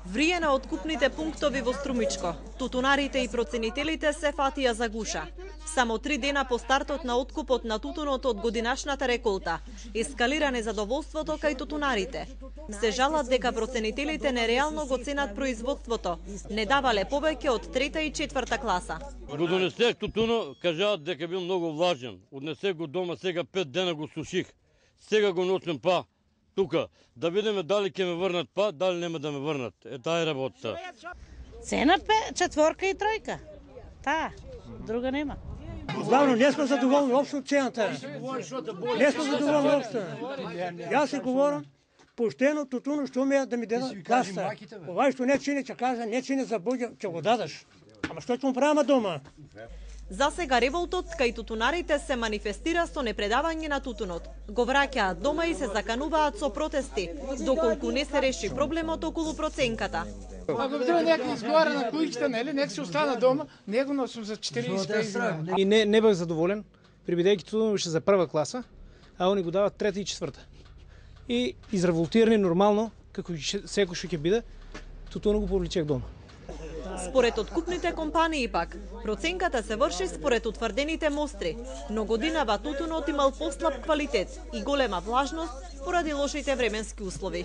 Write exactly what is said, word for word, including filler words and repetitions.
Врие на откупните пунктови во Струмичко. Тутунарите и проценителите се фатија за гуша. Само три дена по стартот на откупот на тутунот од годинашната реколта, ескалира незадоволството кај тутунарите. Се жалат дека проценителите нереално го ценат производството, не давале повеќе од трета и четврта класа. Го донесех тутуно, кажаат дека бил многу влажен. Однесех го дома, сега пет дена го суших. Сега го носим па тука, да видиме дали ќе ме врнат па, дали нема да ме врнат. Е, таа е работа. Цена пе, четворка и тројка. Таа, друга нема. Главно не сме задоволни општо од цената. Не сме задоволни општо. Јас се говорам поштено тутуно што ме да ми дадат каста. Ова што не чини, ќе кажа, не чини за Бога, ќе го дадеш. Ама што ќе му правиме дома? За сега револтот кај тутунарите се манифестира со непредавање на тутунот. Го враќаат дома и се закануваат со протести, доколку не се реши проблемот околу проценката. Ако треба некој изговара на куќите, нели, нека се остана дома, него носам за четириесет пет. И не не бев задоволен, прибидејќи тутунот беше за прва класа, а они го дават трета и четврта. И изреволтирани нормално, како секој што ќе биде, тутунот го повлечех дома. Според откупните компании пак, проценката се врши според утврдените мостри, но годинава тутунот имал послаб квалитет и голема влажност поради лошите временски услови.